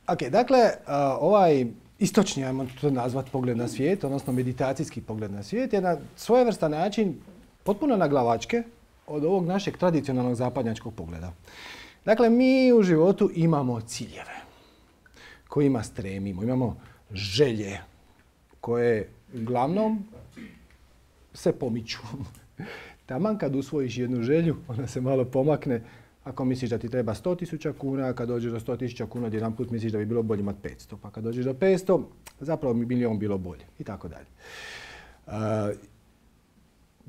Ok, dakle, ovaj istočni, ajmo to nazvati, pogled na svijet, odnosno meditacijski pogled na svijet, je na svojevrstan način potpuno naglavačke od ovog našeg tradicionalnog zapadnjačkog pogleda. Dakle, mi u životu imamo ciljeve kojima stremimo, imamo želje koje uglavnom se pomiču. Taman kad usvojiš jednu želju, ona se malo pomakne. Ako misliš da ti treba 100.000 kuna, kad dođeš do 100.000 kuna, jedan put misliš da bi bilo bolje imati 500. Pa kad dođeš do 500, zapravo bi milion bilo bolje. I tako dalje.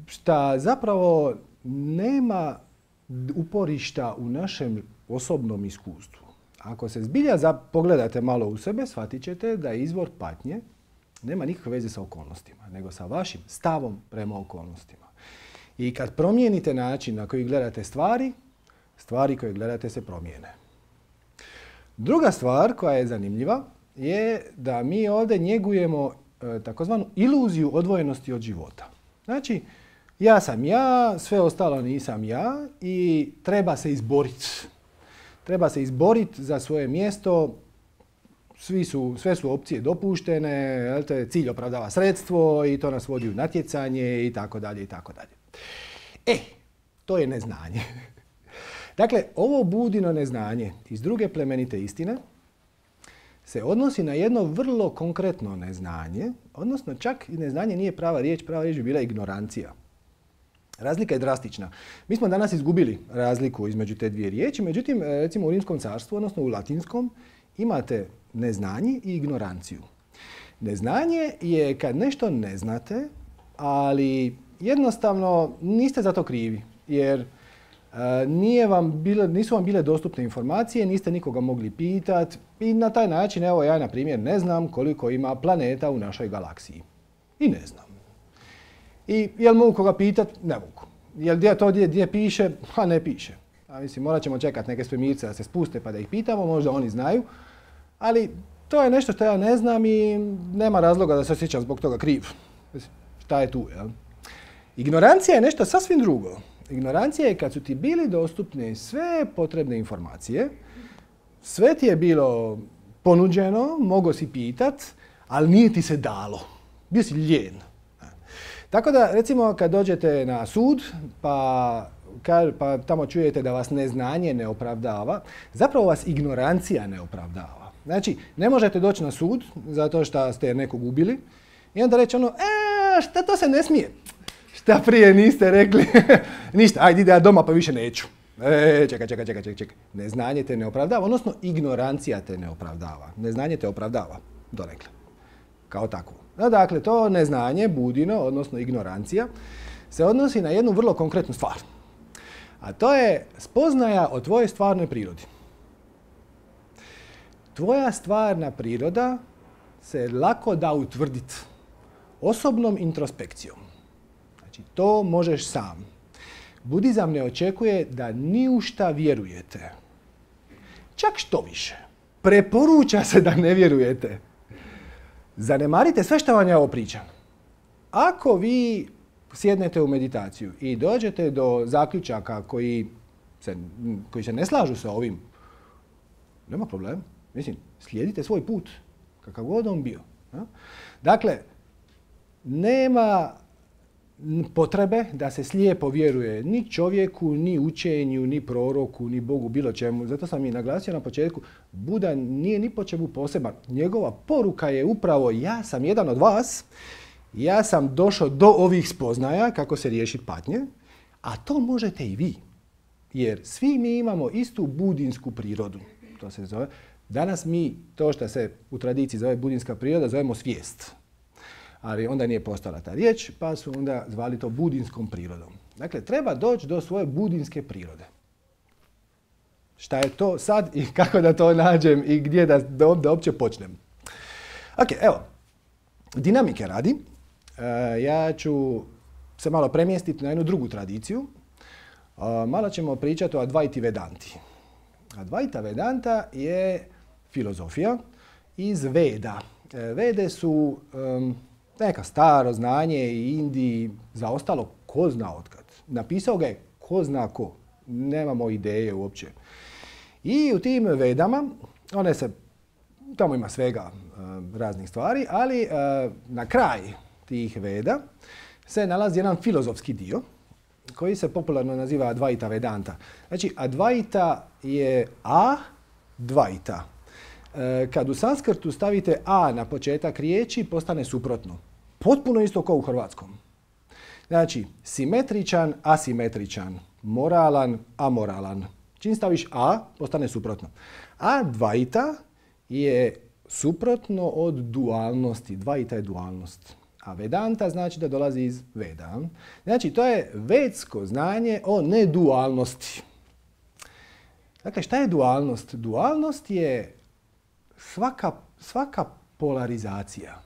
Šta zapravo nema uporišta u našem osobnom iskustvu. Ako se zbilja pogledate malo u sebe, shvatit ćete da izvor patnje nema nikakve veze sa okolnostima, nego sa vašim stavom prema okolnostima. I kad promijenite način na koji gledate stvari, stvari koje gledate se promijene. Druga stvar koja je zanimljiva je da mi ovdje njegujemo takozvanu iluziju odvojenosti od života. Znači, ja sam ja, sve ostalo nisam ja i treba se izboriti. Treba se izboriti za svoje mjesto, sve su opcije dopuštene, cilj opravdava sredstvo i to nas vodi u natjecanje i tako dalje i tako dalje. To je neznanje. Dakle, ovo budino neznanje iz druge plemenite istine se odnosi na jedno vrlo konkretno neznanje, odnosno čak i neznanje nije prava riječ bi bila ignorancija. Razlika je drastična. Mi smo danas izgubili razliku između te dvije riječi, međutim, recimo u Rimskom carstvu, odnosno u latinskom, imate neznanje i ignoranciju. Neznanje je kad nešto ne znate, ali jednostavno niste za to krivi, jer nisu vam bile dostupne informacije, niste nikoga mogli pitati i na taj način, evo ja na primjer ne znam koliko ima planeta u našoj galaksiji. I ne znam. I jel mogu koga pitati? Ne mogu. Jel to gdje piše? Pa ne piše. Mislim, morat ćemo čekati neke svemirce da se spuste pa da ih pitamo, možda oni znaju. Ali to je nešto što ja ne znam i nema razloga da se osjećam zbog toga kriv. Šta je tu, jel? Ignorancija je nešto sasvim drugo. Ignorancija je kad su ti bili dostupne sve potrebne informacije, sve ti je bilo ponuđeno, mogao si pitat, ali nije ti se dalo. Bio si lijen. Tako da, recimo, kad dođete na sud, pa tamo čujete da vas neznanje ne opravdava, zapravo vas ignorancija ne opravdava. Znači, ne možete doći na sud zato što ste nekog ubili i onda reći šta to se ne smije? Šta prije niste rekli? Ništa, ajde ide ja doma pa više neću. Čekaj. Neznanje te ne opravdava, odnosno ignorancija te ne opravdava. Neznanje te opravdava, donekle. Kao takvo. Dakle, to neznanje, budino, odnosno ignorancija, se odnosi na jednu vrlo konkretnu stvar. A to je spoznaja o tvojoj stvarnoj prirodi. Tvoja stvarna priroda se lako da utvrditi osobnom introspekcijom. Znači, to možeš sam. Budizam ne očekuje da ni u šta vjerujete. Čak što više. Preporuča se da ne vjerujete. Zanemarite sve što vam ja ovo pričam. Ako vi sjednete u meditaciju i dođete do zaključaka koji se ne slažu sa ovim, nema problema. Mislim, slijedite svoj put, kakav god on bio. Dakle, nema potrebe da se slijepo vjeruje ni čovjeku, ni učenju, ni proroku, ni Bogu, bilo čemu. Zato sam i naglasio na početku, Buda nije ni po čemu poseban. Njegova poruka je upravo ja sam jedan od vas, ja sam došao do ovih spoznaja kako se riješiti patnje, a to možete i vi. Jer svi mi imamo istu budinsku prirodu. To se zove. Danas mi to što se u tradiciji zove budinska priroda zovemo svijest. Ali onda nije postala ta riječ, pa su onda zvali to budinskom prirodom. Dakle, treba doći do svoje budinske prirode. Šta je to sad i kako da to nađem i gdje da uopće počnem? Ok, evo, dinamike radi. Ja ću se malo premjestiti na jednu drugu tradiciju. Malo ćemo pričati o Advaiti Vedanti. Advaita Vedanta je filozofija iz Veda. Vede su neka staro znanje i Indiji zaostalo ko zna otkad. Napisao ga je ko zna ko. Nemamo ideje uopće. I u tim Vedama one se tamo ima svega raznih stvari, ali na kraj tih Veda se nalazi jedan filozofski dio koji se popularno naziva Advaita Vedanta. Znači, Advaita je Dvaita. Kad u sanskrtu stavite A na početak riječi, postane suprotno. Potpuno isto kao u hrvatskom. Znači, simetričan, asimetričan, moralan, amoralan. Čim staviš A, postane suprotno. Advaita je suprotno od dualnosti. Dvaita je dualnost. A Vedanta znači da dolazi iz Veda. Znači, to je vedsko znanje o nedualnosti. Dakle, šta je dualnost? Dualnost je svaka polarizacija.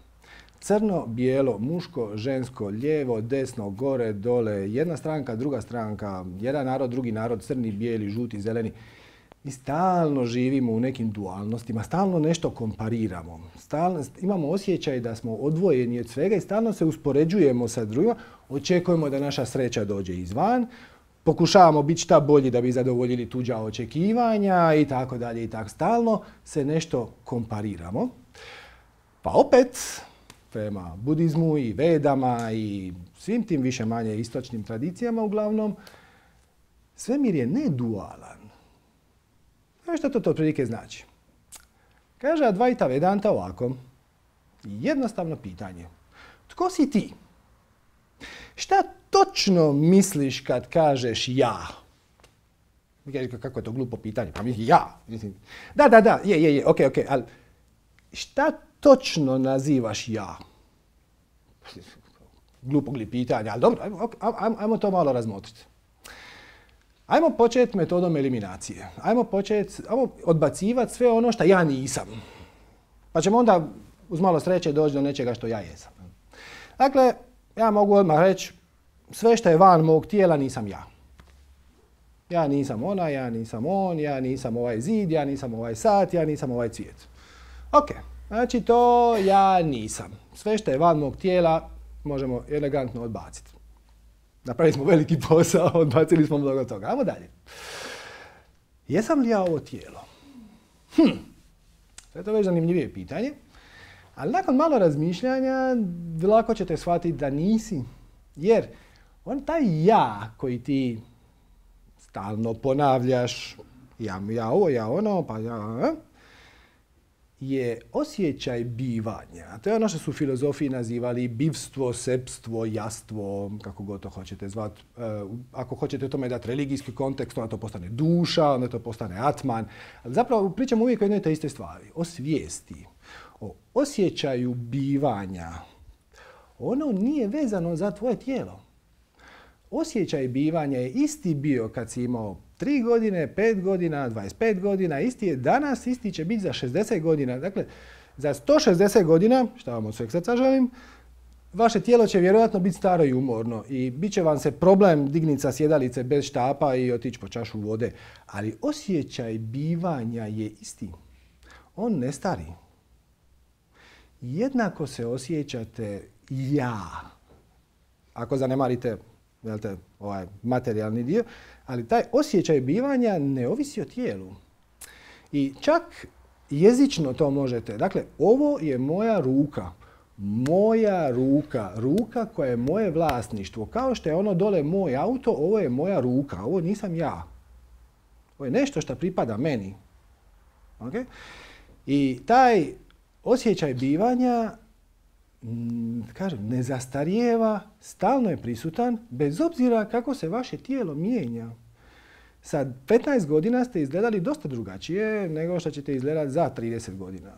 Crno, bijelo, muško, žensko, lijevo, desno, gore, dole, jedna stranka, druga stranka, jedan narod, drugi narod, crni, bijeli, žuti, zeleni. Mi stalno živimo u nekim dualnostima, stalno nešto kompariramo. Stalno imamo osjećaj da smo odvojeni od svega i stalno se uspoređujemo sa drugima. Očekujemo da naša sreća dođe izvan. Pokušavamo biti šta bolji da bi zadovoljili tuđa očekivanja i tako dalje i tako. Stalno se nešto kompariramo. Pa opet, prema budizmu i vedama i svim tim više manje istočnim tradicijama uglavnom, svemir je nedualan. Znaš što to otprilike znači? Kaže Advaita Vedanta ovako. Jednostavno pitanje. Tko si ti? Šta točno misliš kad kažeš ja? Kako je to glupo pitanje? Pa mislim ja. Da, je, ok, ali šta točno nazivaš ja? Glupog li pitanja, ali dobro, ajmo to malo razmotriti. Ajmo početi metodom eliminacije. Ajmo odbacivati sve ono što ja nisam. Pa ćemo onda uz malo sreće doći do nečega što ja jesam. Dakle, ja mogu odmah reći, sve što je van mog tijela nisam ja. Ja nisam ona, ja nisam on, ja nisam ovaj zid, ja nisam ovaj sat, ja nisam ovaj cvijet. Ok, znači to ja nisam. Sve što je van mog tijela možemo elegantno odbaciti. Napravili smo veliki posao, odbacili smo mnogo toga. Ajmo dalje. Jesam li ja ovo tijelo? To je to već zanimljivije pitanje. Ali nakon malo razmišljanja, lako ćete shvatiti da nisi. Jer taj ja koji ti stalno ponavljaš, ja ovo, ja ono, pa ja, je osjećaj bivanja. To je ono što su filozofiji nazivali bivstvo, sepstvo, jastvo, kako god to hoćete zvati. Ako hoćete tome dati religijski kontekst, onda to postane duša, onda to postane atman. Ali zapravo pričamo uvijek o jednoj te iste stvari. O svijesti, o osjećaju bivanja. Ono nije vezano za tvoje tijelo. Osjećaj bivanja je isti bio kad si imao 3 godine, 5 godina, 25 godina, isti je danas, isti će biti za 60 godina. Dakle, za 160 godina, šta vam od sveg srca želim, vaše tijelo će vjerojatno biti staro i umorno i bit će vam se problem digniti sa sjedalice bez štapa i otići po čašu vode. Ali osjećaj bivanja je isti. On ne stari. Jednako se osjećate ja. Ako zanemarite ovaj materijalni dio, ali taj osjećaj bivanja ne ovisi o tijelu. I čak jezično to možete. Dakle, ovo je moja ruka. Moja ruka. Ruka koja je moje vlasništvo. Kao što je ono dole moj auto, ovo je moja ruka. Ovo nisam ja. Ovo je nešto što pripada meni. Okay? I taj osjećaj bivanja kažem, ne zastarijeva, stalno je prisutan, bez obzira kako se vaše tijelo mijenja. Sa 15 godina ste izgledali dosta drugačije nego što ćete izgledati za 30 godina.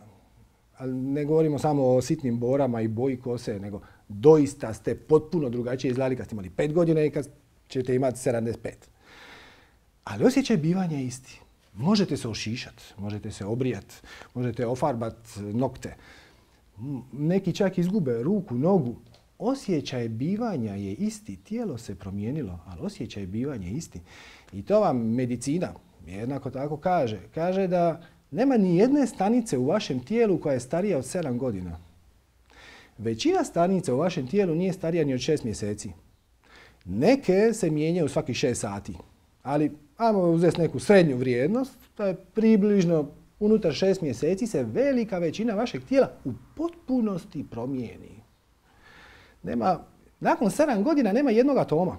Ali ne govorimo samo o sitnim borama i boji kose, nego doista ste potpuno drugačije izgledali kad ste imali 5 godina i kad ćete imati 75. Ali osjećaj bivanja je isti. Možete se ošišati, možete se obrijati, možete ofarbati nokte. Neki čak izgube ruku, nogu. Osjećaj bivanja je isti. Tijelo se promijenilo, ali osjećaj bivanja je isti. I to vam medicina jednako tako kaže. Kaže da nema ni jedne stanice u vašem tijelu koja je starija od 7 godina. Većina stanica u vašem tijelu nije starija ni od 6 mjeseci. Neke se mijenjaju svaki 6 sati. Ali ajmo uzeti neku srednju vrijednost, to je približno unutar 6 mjeseci se velika većina vašeg tijela u potpunosti promijeni. Nakon 7 godina nema jednog atoma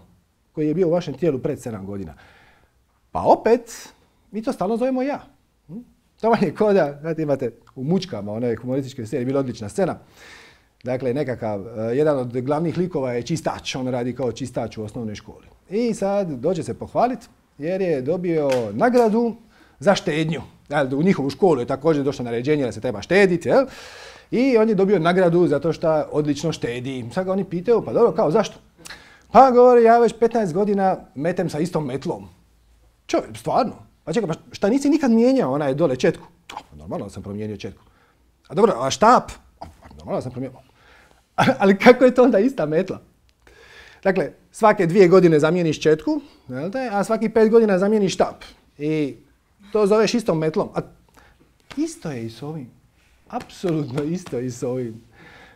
koji je bio u vašem tijelu pred 7 godina. Pa opet, mi to stalno zovemo ja. To vam je koda, znate, imate u Mučkama, one humorističke serije, bila odlična scena. Dakle, jedan od glavnih likova je čistač, on radi kao čistač u osnovnoj školi. I sad dođe se pohvaliti jer je dobio nagradu za štednju. U njihovu školu je također došlo naređenje da se treba štediti, jel? I on je dobio nagradu zato što odlično štedi. Sad ga oni pitaju, pa dobro, kao zašto? Pa govori, ja već 15 godina metem sa istom metlom. Čovjek, stvarno? Pa čekaj, pa šta nisi nikad mijenjao onaj dole četku? Normalno sam promijenio četku. A dobro, a štap? Normalno sam promijenio. Ali kako je to onda ista metla? Dakle, svake 2 godine zamijeniš četku, a svaki 5 godina zamijeniš štap. I to zoveš istom metlom. A isto je i s ovim. Apsolutno isto i s ovim.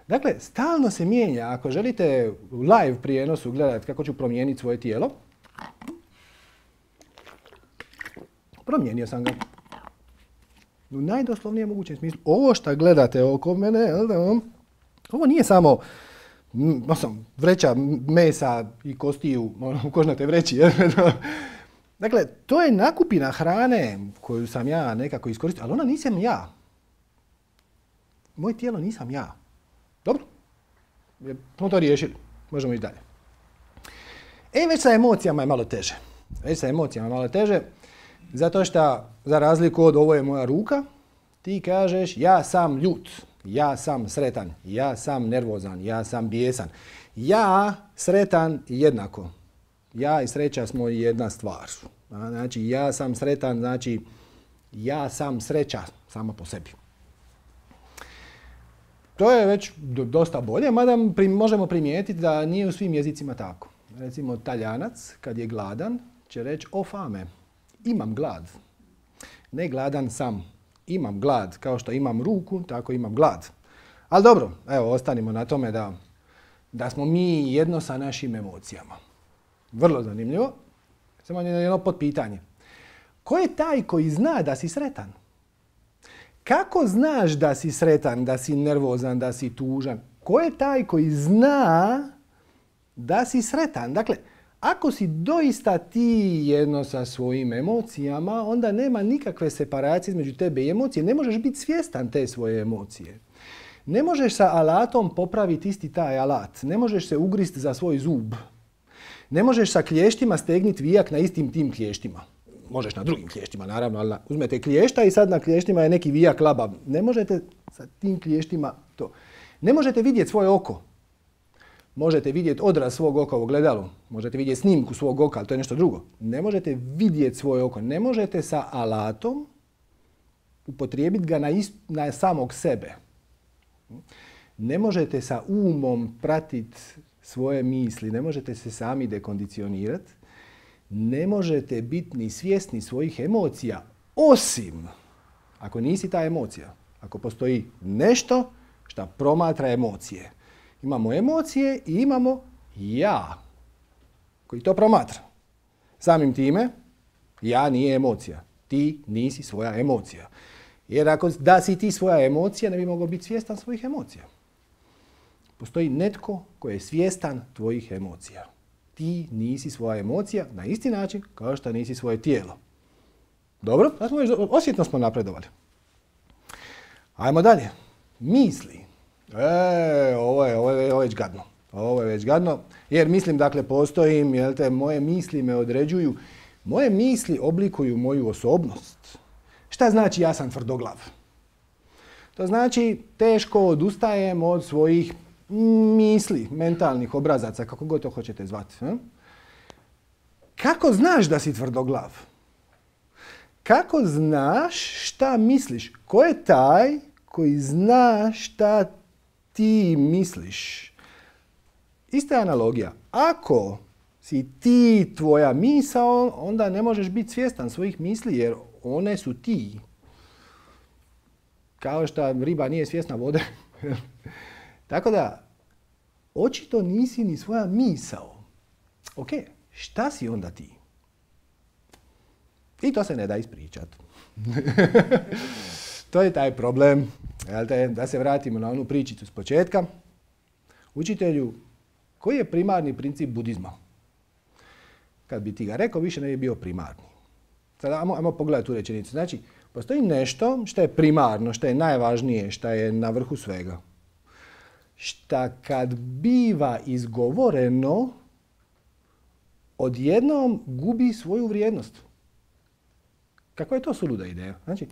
Dakle, stalno se mijenja. Ako želite u live prijenosu gledati kako ću promijeniti svoje tijelo, promijenio sam ga. U najdoslovnijem mogućem smislu. Ovo što gledate oko mene, ovo nije samo vreća mesa i kostiju u kožnatoj vreći. Dakle, to je nakupina hrane koju sam ja nekako iskoristio, ali ona nisam ja. Moje tijelo nisam ja. Dobro, smo to riješili. Možemo ići dalje. Već sa emocijama je malo teže. Zato što, za razliku od ovo je moja ruka, ti kažeš ja sam ljut, ja sam sretan, ja sam nervozan, ja sam bijesan. Ja, sretan jednako. Ja i sreća smo jedna stvar. Znači, ja sam sretan, znači ja sam sreća sama po sebi. To je već dosta bolje, mada možemo primijetiti da nije u svim jezicima tako. Recimo, Talijanac, kad je gladan, će reći o fame, imam glad. Ne gladan sam, imam glad. Kao što imam ruku, tako imam glad. Ali dobro, evo, ostanimo na tome da smo mi jedno sa našim emocijama. Vrlo zanimljivo. Samo jedno potpitanje. Ko je taj koji zna da si sretan? Kako znaš da si sretan, da si nervozan, da si tužan? Ko je taj koji zna da si sretan? Dakle, ako si doista ti jedno sa svojim emocijama, onda nema nikakve separacije između tebe i emocije. Ne možeš biti svjestan te svoje emocije. Ne možeš sa alatom popraviti isti taj alat. Ne možeš se ugrist za svoj zub. Ne možeš sa klještima stegniti vijak na istim tim klještima. Možeš na drugim klještima, naravno, ali uzmete klješta i sad na klještima je neki vijak labav. Ne možete sa tim klještima to. Ne možete vidjeti svoje oko. Možete vidjeti odraz svog oka u ogledalu. Možete vidjeti snimku svog oka, ali to je nešto drugo. Ne možete vidjeti svoje oko. Ne možete sa alatom upotrijebiti ga na samog sebe. Ne možete sa umom pratiti svoje misli. Ne možete se sami dekondicionirati. Ne možete biti ni svjesni svojih emocija, osim ako nisi ta emocija. Ako postoji nešto što promatra emocije. Imamo emocije i imamo ja koji to promatra. Samim time, ja nije emocija. Ti nisi svoja emocija. Jer ako da si ti svoja emocija, ne bi mogao biti svjestan svojih emocija. Postoji netko koji je svjestan tvojih emocija. Ti nisi svoja emocija na isti način kao što nisi svoje tijelo. Dobro, osjetno smo napredovali. Ajmo dalje. Misli. Ovo je već gadno. Ovo je već gadno. Jer mislim, dakle, postojim, moje misli me određuju. Moje misli oblikuju moju osobnost. Šta znači ja sam tvrdoglav? To znači teško odustajem od svojih misli, mentalnih obrazaca, kako god to hoćete zvati. Kako znaš da si tvrdoglav? Kako znaš šta misliš? Ko je taj koji zna šta ti misliš? Ista analogija. Ako si ti tvoja misao, onda ne možeš biti svjestan svojih misli jer one su ti. Kao što riba nije svjesna vode. Tako da, očito nisi ni svoja misao. Ok, šta si onda ti? I to se ne da ispričati. To je taj problem. Da se vratimo na onu pričicu s početka. Učitelju, koji je primarni princip budizma? Kad bi ti ga rekao, više ne bi bio primarni. Sada ajmo pogledati tu rečenicu. Znači, postoji nešto što je primarno, što je najvažnije, što je na vrhu svega. Šta kad biva izgovoreno, odjednom gubi svoju vrijednost. Kakva je to suluda ideja? Znači,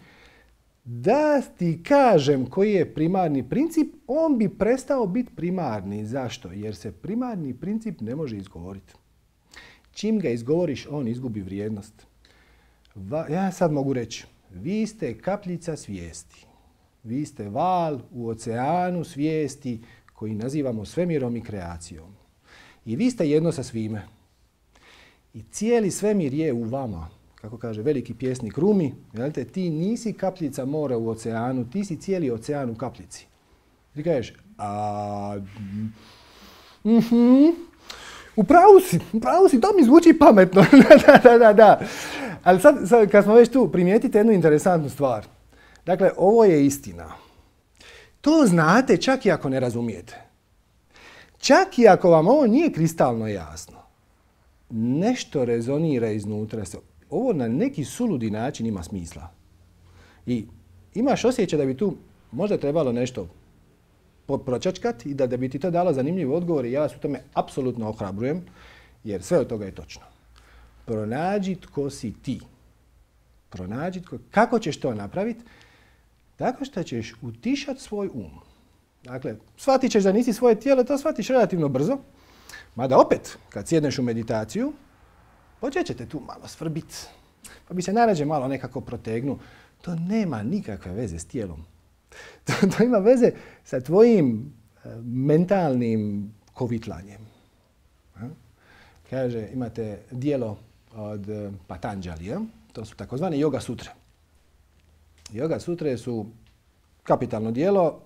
da ti kažem koji je primarni princip, on bi prestao biti primarni. Zašto? Jer se primarni princip ne može izgovoriti. Čim ga izgovoriš, on izgubi vrijednost. Ja sad mogu reći, vi ste kapljica svijesti. Vi ste val u oceanu svijesti koji nazivamo svemirom i kreacijom. I vi ste jedno sa svime. I cijeli svemir je u vama. Kako kaže veliki pjesnik Rumi, ti nisi kapljica mora u oceanu, ti si cijeli ocean u kapljici. Ti kažeš, u pravu si, to mi zvuči pametno. Da. Ali sad, kad smo već tu, primijetite jednu interesantnu stvar. Dakle, ovo je istina. To znate čak i ako ne razumijete. Čak i ako vam ovo nije kristalno jasno. Nešto rezonira iznutra. Ovo na neki suludi način ima smisla. I imaš osjećaj da bi tu možda trebalo nešto pročačkati i da bi ti to dalo zanimljiv odgovor i ja vas u tome apsolutno ohrabrujem, jer sve od toga je točno. Pronađi tko si ti. Kako ćeš to napraviti? Tako što ćeš utišati svoj um. Dakle, shvatit ćeš da nisi svoje tijelo, to shvatiš relativno brzo. Mada opet, kad sjedneš u meditaciju, počet ćete tu malo svrbiti. Pa bi se najrađe malo nekako protegnu. To nema nikakve veze s tijelom. To ima veze sa tvojim mentalnim kovitlanjem. Kaže, imate dijelo od Patanđalija, to su takozvane yoga sutre. Yoga sutre su kapitalno dijelo,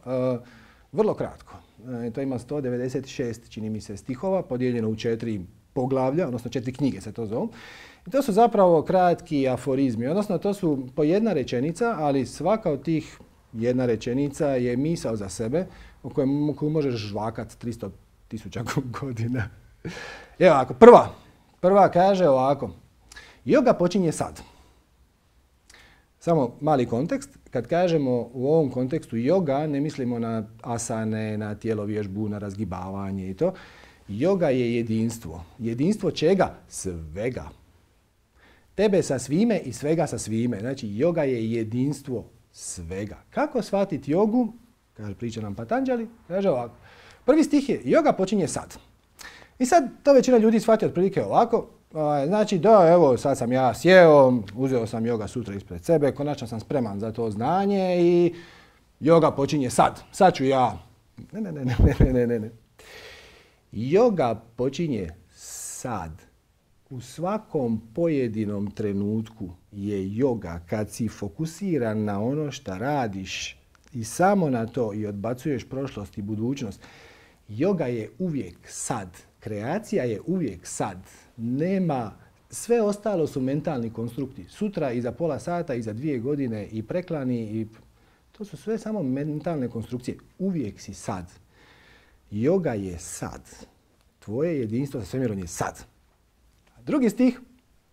vrlo kratko. To ima 196, čini mi se, stihova, podijeljeno u 4 poglavlja, odnosno 4 knjige se to zovu. I to su zapravo kratki aforizmi, odnosno to su po jedna rečenica, ali svaka od tih jedna rečenica je misao za sebe koju možeš žvakat 300.000 godina. Evo ovako, prva kaže ovako. Yoga počinje sad. Samo mali kontekst. Kad kažemo u ovom kontekstu yoga, ne mislimo na asane, na tjelovježbu, na razgibavanje i to. Yoga je jedinstvo. Jedinstvo čega? Svega. Tebe sa svime i svega sa svime. Znači, yoga je jedinstvo svega. Kako shvatiti jogu? Kaže, priča nam Patanđali. Kaže ovako. Prvi stih je, yoga počinje sad. I sad to većina ljudi shvati otprilike ovako. Znači, da, evo, sad sam ja sjeo, uzeo sam yoga sutra ispred sebe, konačno sam spreman za to znanje i yoga počinje sad. Sad ću ja. Ne. Yoga počinje sad. U svakom pojedinom trenutku je yoga kad si fokusiran na ono što radiš i samo na to i odbacuješ prošlost i budućnost. Yoga je uvijek sad. Kreacija je uvijek sad. Nema, sve ostalo su mentalni konstrukti. Sutra i za pola sata i za 2 godine i preklani i to su sve samo mentalne konstrukcije. Uvijek si sad. Yoga je sad. Tvoje jedinstvo sa svemirom je sad. Drugi stih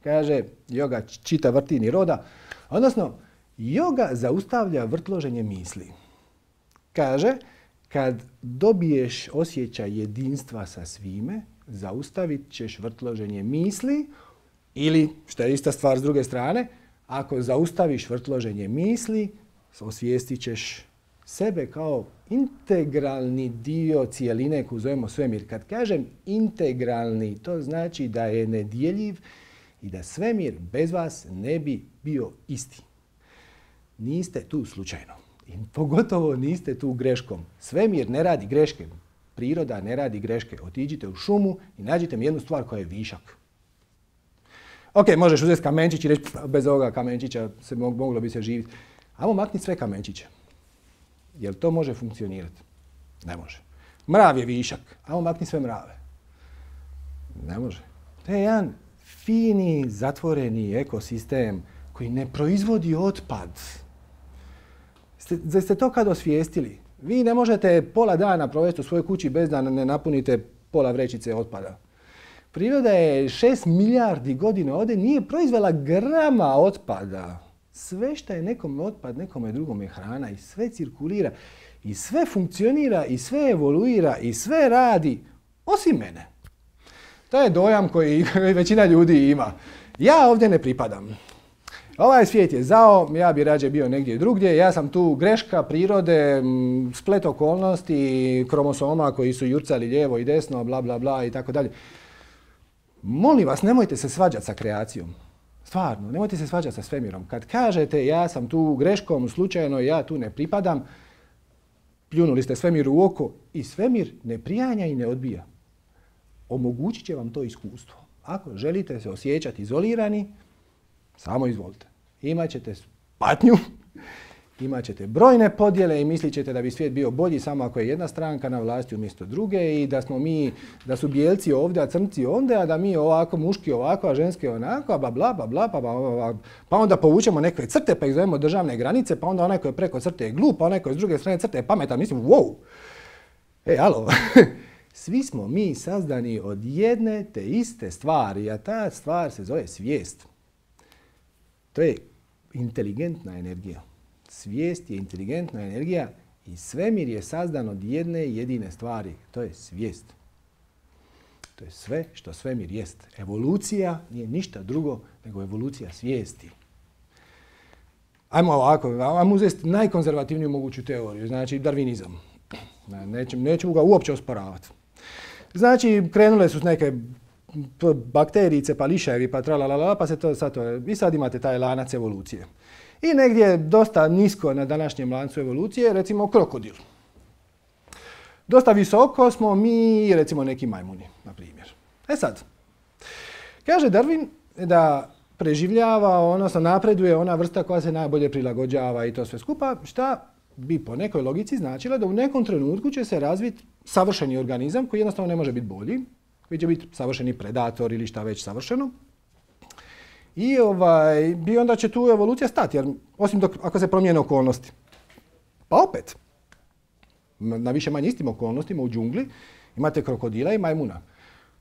kaže yoga čita vrti ni roda. Odnosno, yoga zaustavlja vrtloženje misli. Kaže, kad dobiješ osjećaj jedinstva sa svime, zaustavit ćeš vrtloženje misli ili, što je ista stvar s druge strane, ako zaustaviš vrtloženje misli, osvijestit ćeš sebe kao integralni dio cijeline koju zovemo svemir. Kad kažem integralni, to znači da je nedjeljiv i da svemir bez vas ne bi bio isti. Niste tu slučajno. I pogotovo niste tu greškom. Svemir ne radi greške. Priroda ne radi greške. Otiđite u šumu i nađite mi jednu stvar koja je višak. Ok, možeš uzeti kamenčić i reći bez ovoga kamenčića moglo bi se živjeti. Ajmo makniti sve kamenčiće. Jel to može funkcionirati? Ne može. Mrav je višak. Ajmo makniti sve mrave. Ne može. To je jedan fini, zatvoreni ekosistem koji ne proizvodi otpad. Ste to kad osvijestili? Vi ne možete pola dana provesti u svojoj kući bez da ne napunite pola vrećice otpada. Priroda je 6 milijardi godina ovdje nije proizvela grama otpada. Sve što je nekome otpad, nekome drugome hrana i sve cirkulira i sve funkcionira i sve evoluira i sve radi osim mene. To je dojam koji većina ljudi ima. Ja ovdje ne pripadam. Ovaj svijet je zao, ja bi rađe bio negdje drugdje, ja sam tu greška prirode, splet okolnosti, kromosoma koji su jurcali lijevo i desno, bla bla bla i tako dalje. Molim vas, nemojte se svađati sa kreacijom. Stvarno, nemojte se svađati sa svemirom. Kad kažete ja sam tu greškom, slučajno, ja tu ne pripadam, pljunuli ste svemiru u oko i svemir ne prijanja i ne odbija. Omogućit će vam to iskustvo. Ako želite se osjećati izolirani, samo izvolite. Imaćete patnju, imat ćete brojne podjele i mislit ćete da bi svijet bio bolji samo ako je jedna stranka na vlasti umjesto druge i da su bijelci ovdje, a crnci ondje, a da mi ovako, muški ovako, a ženski onako, a bla bla bla bla, pa onda povučemo neke crte pa ih zovemo državne granice, pa onda onaj koji je preko crte je glup, a onaj koji je s druge strane crte je pametan, mislim, wow! Alo! Svi smo mi sazdani od jedne te iste stvari, a ta stvar se zove svijest. To je inteligentna energija. Svijest je inteligentna energija i svemir je sazdan od jedne jedine stvari. To je svijest. To je sve što svemir jest. Evolucija nije ništa drugo nego evolucija svijesti. Ajmo ovako, ajmo uzeti najkonzervativniju moguću teoriju, znači darvinizam. Neću ga uopće osporavati. Znači, krenule su s neke bakterijice, pa lišajevi, pa tralalala, pa se to i sad imate taj lanac evolucije. I negdje dosta nisko na današnjem lancu evolucije, recimo krokodil. Dosta visoko smo mi, recimo neki majmuni, na primjer. Sad, kaže Darwin da preživljava, odnosno napreduje ona vrsta koja se najbolje prilagođava i to sve skupa, šta bi po nekoj logici značilo da u nekom trenutku će se razviti savršeni organizam koji jednostavno ne može biti bolji, koji će biti savršeni predator ili šta već savršeno. I onda će tu evolucija stati, jer osim ako se promijene okolnosti. Pa opet, na više manje istim okolnostima u džungli imate krokodila i majmuna.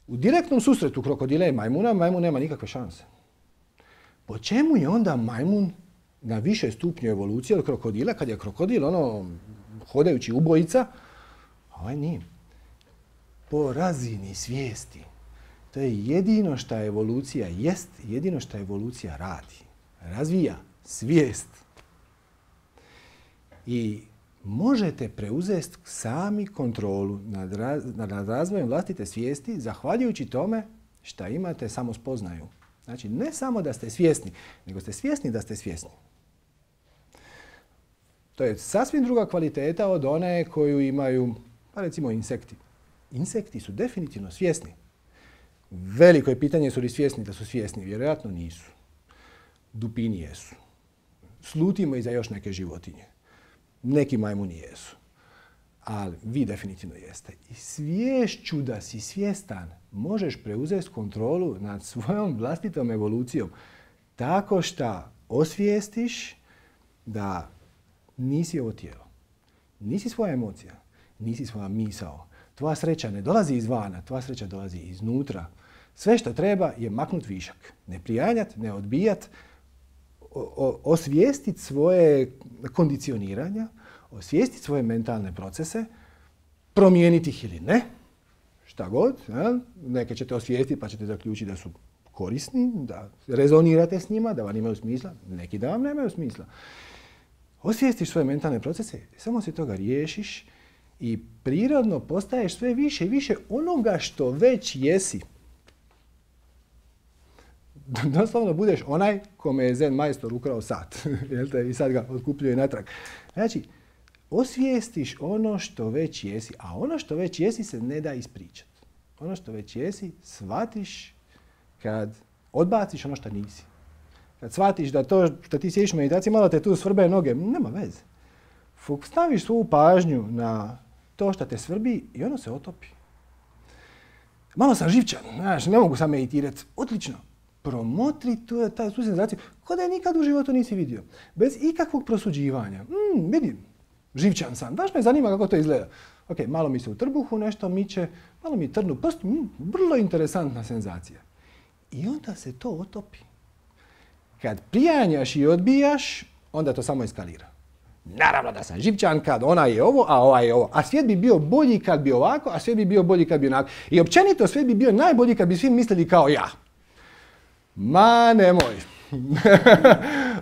U direktnom susretu krokodila i majmuna, majmun nema nikakve šanse. Po čemu je onda majmun na više stupnju evolucije od krokodila, kad je krokodil hodajući ubojica, a ovaj nije. Po razini svijesti. To je jedino što evolucija jest, jedino što evolucija radi. Razvija svijest. I možete preuzeti sami kontrolu nad razvojem vlastite svijesti zahvaljujući tome što imate samospoznaju. Znači, ne samo da ste svjesni, nego ste svjesni da ste svjesni. To je sasvim druga kvaliteta od one koju imaju, pa recimo, insekti. Insekti su definitivno svjesni. Veliko je pitanje su li svjesni da su svjesni. Vjerojatno nisu. Dupini jesu. Slutimo i za još neke životinje. Neki majmuni jesu. Ali vi definitivno jeste. I sviješću da si svjestan možeš preuzeti kontrolu nad svojom vlastitom evolucijom tako što osvijestiš da nisi ovo tijelo. Nisi svoja emocija. Nisi svoja misao. Tvoja sreća ne dolazi izvana, tvoja sreća dolazi iznutra. Sve što treba je maknut višak. Ne prijanjat, ne odbijat, osvijestiti svoje kondicioniranja, osvijestiti svoje mentalne procese, promijeniti ih ili ne, šta god. Neke ćete osvijestiti pa ćete zaključiti da su korisni, da rezonirate s njima, da vam imaju smisla, neki da vam nemaju smisla. Osvijestiš svoje mentalne procese, samo se toga riješiš i prirodno postaješ sve više i više onoga što već jesi. Doslovno budeš onaj kome je zen majstor ukrao sat i sad ga otkupljuje natrag. Znači, osvijestiš ono što već jesi, a ono što već jesi se ne da ispričati. Ono što već jesi shvatiš kad odbaciš ono što nisi. Kad shvatiš da to što ti sjediš u meditaciji, malo te tu svrbe noge, nema veze. Staviš svoju pažnju na to što te svrbi i ono se otopi. Malo sam živčan, znaš, ne mogu sam meditirati. Odlično. promotri tu senzaciju kao da je nikad u životu nisi vidio. Bez ikakvog prosuđivanja. Vidim, živčan sam, baš me zanima kako to izgleda. Ok, malo mi se u trbuhu nešto miče, malo mi trnu prst, vrlo interesantna senzacija. I onda se to otopi. Kad prijanjaš i odbijaš, onda to samo eskalira. Naravno da sam živčan kad ona je ovo, a ova je ovo. A svijet bi bio bolji kad bi ovako, a svijet bi bio bolji kad bi onako. I općenito svijet bi bio najbolji kad bi svi mislili kao ja. Ma nemoj.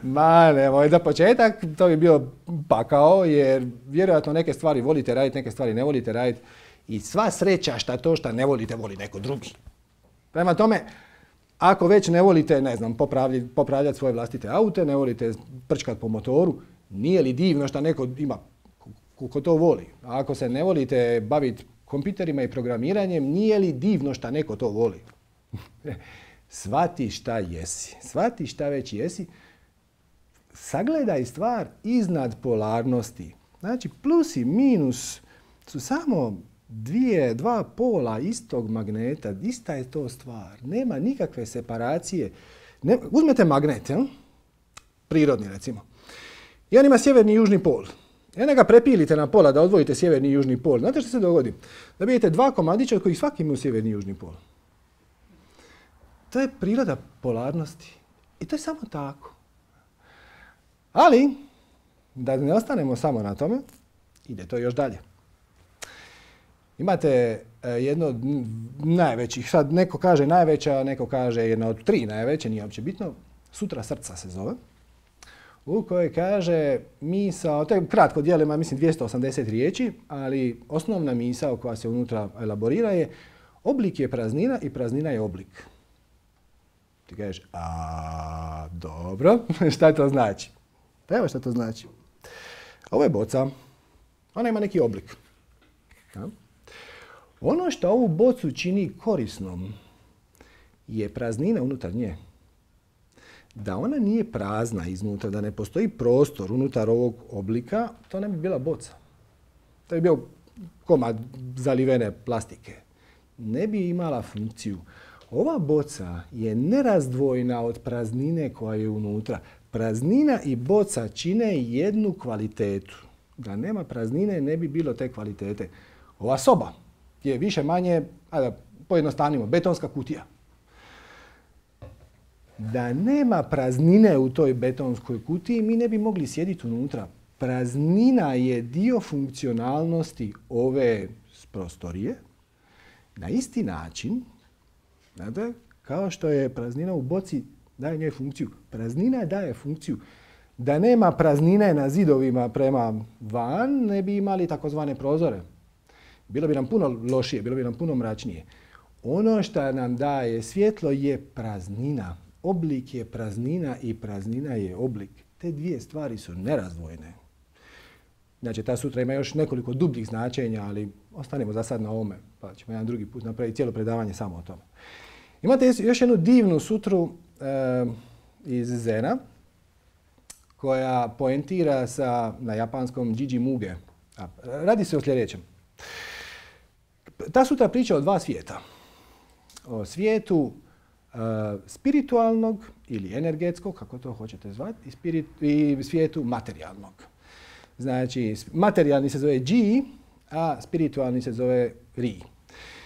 Ma nemoj. Za početak to bi bio pakao jer vjerojatno neke stvari volite raditi, neke stvari ne volite raditi. I sva sreća šta ne volite voli neko drugi. Prema tome, ako već ne volite, ne znam, popravljati svoje vlastite aute, ne volite prčkati po motoru, nije li divno što neko ima ko to voli? A ako se ne volite baviti kompjuterima i programiranjem, nije li divno što neko to voli? Shvati šta jesi. Shvati šta već jesi. Sagledaj stvar iznad polarnosti. Znači, plus i minus su samo dva pola istog magneta. Ista je to stvar. Nema nikakve separacije. Uzmete magnet, prirodni recimo. I on ima sjeverni i južni pol. I onda ga prepilite na pola da odvojite sjeverni i južni pol. Znate što se dogodi? Da vidite dva komadića od kojih svaki imaju sjeverni i južni pol. To je priroda polarnosti. I to je samo tako. Ali, da ne ostanemo samo na tome, ide to još dalje. Imate jedno od najvećih, sad neko kaže najveća, neko kaže jedna od 3 najveće, nije uopće bitno, Sutra srca se zove, u kojoj kaže misao, to je kratko dijelo, ima mislim 280 riječi, ali osnovna misao koja se unutra elaborira je oblik je praznina i praznina je oblik. Ti kažeš, dobro, šta to znači? Pa evo šta to znači. Ovo je boca, ona ima neki oblik. Ja? Ono što ovu bocu čini korisnom je praznina unutar nje. Da ona nije prazna iznutra, da ne postoji prostor unutar ovog oblika, to ne bi bila boca. To bi bio komad zalivene plastike. Ne bi imala funkciju. Ova boca je nerazdvojna od praznine koja je unutra. Praznina i boca čine jednu kvalitetu. Da nema praznine ne bi bilo te kvalitete. Ova soba je više manje, da pojednostavnimo, betonska kutija. Da nema praznine u toj betonskoj kutiji, mi ne bi mogli sjediti unutra. Praznina je dio funkcionalnosti ove prostorije na isti način, znate, kao što je praznina u boci daje njoj funkciju. Praznina daje funkciju. Da nema praznine na zidovima prema van, ne bi imali takozvane prozore. Bilo bi nam puno lošije, bilo bi nam puno mračnije. Ono što nam daje svjetlo je praznina. Oblik je praznina i praznina je oblik. Te dvije stvari su nerazdvojne. Znači, ta sutra ima još nekoliko dubljih značenja, ali ostanemo za sad na ovome, pa ćemo jedan drugi put napraviti cijelo predavanje samo o tome. Imate još jednu divnu sutru iz Zena, koja poentira na japanskom Jiji Muge. Radi se o sljedećem. Ta sutra priča o 2 svijeta. O svijetu spiritualnog ili energetskog, kako to hoćete zvati, i svijetu materijalnog. Znači, materijalni se zove Ji, a spiritualni se zove Ri.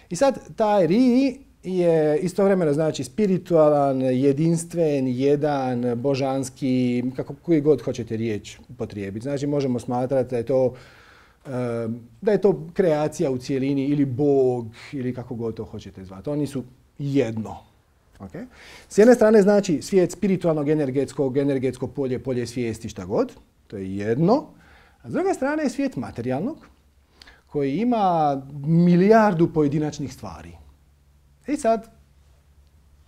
I sad, taj Ri je istovremeno znači spiritualan, jedinstven, jedan, božanski, koji god hoćete riječ upotrijebiti. Znači, možemo smatrati da je to kreacija u cijelini ili Bog ili kako god to hoćete zvati. Oni su jedno. Okay? S jedne strane znači svijet spiritualnog, energetsko polje, polje svijesti, šta god. To je jedno. A s druge strane je svijet materijalnog koji ima milijardu pojedinačnih stvari. I sad